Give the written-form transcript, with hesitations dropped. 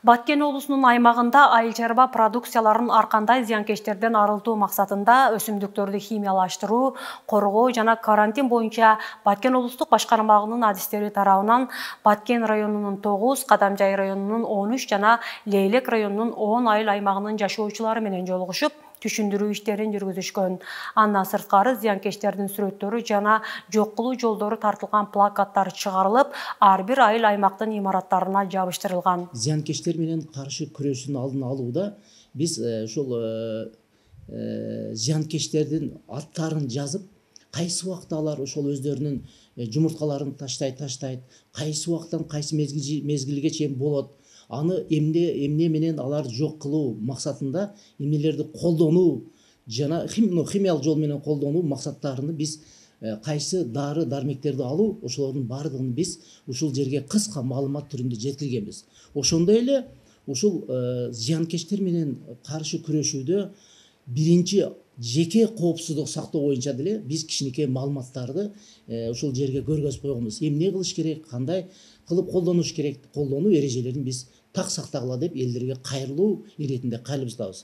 Баткен облусунун аймагында айыл чарба продукцияларын аркандай зыянкечтерден арылтуу максатында өсүмдүктөрдү химиялаштыруу, коргоо жана карантин боюнча Баткен облустук башкармалыгынын адистери тарабынан Баткен районунун 9, Кадамжай районунун 13 жана Лейлек районунун 10 айыл аймагынын жашоочулары менен жолугушуп, түшүндүрүү иштерин жүргүзүшкөн. Андан сырткары зыянкечтердин сүрөттөрү жана жок кылуу жолдору тартылган плакаттар чыгарылып, ар бир айыл аймактын имараттарына жабыштырылган. Зыянкечтер менен каршы күрөшүүнүн алдын алууда биз ушул зыянкечтердин аттарын жазып, кайсы убакта алар ошол өздөрүнүн жумурткаларын таштайт, кайсы убактан кайсы мезгилге чейин болот, аны эмне менен алар жок кылуу максатында эмнелерди колдонуу жана химиялык жол менен колдонуу максаттарını биз кайсы дары дармектерди алуу, ошолордун баардыгын биз ушул жерге кыска маалымат түрүндө жеткиргенбиз. Ошондой эле ушул зыянкечтер менен каршы күрөшүүдө биринчи жеке коопсуздук сактоо боюнча деле биз кичинекей маалыматтарды ушул жерге көргөзүп койгонбуз. Эмне кылыш керек, кандай кылып колдонуш керек, колдонуу эрежелерин биз так сактагыла деп элдерге кайрылуу иретинде кайрылып жатабыз.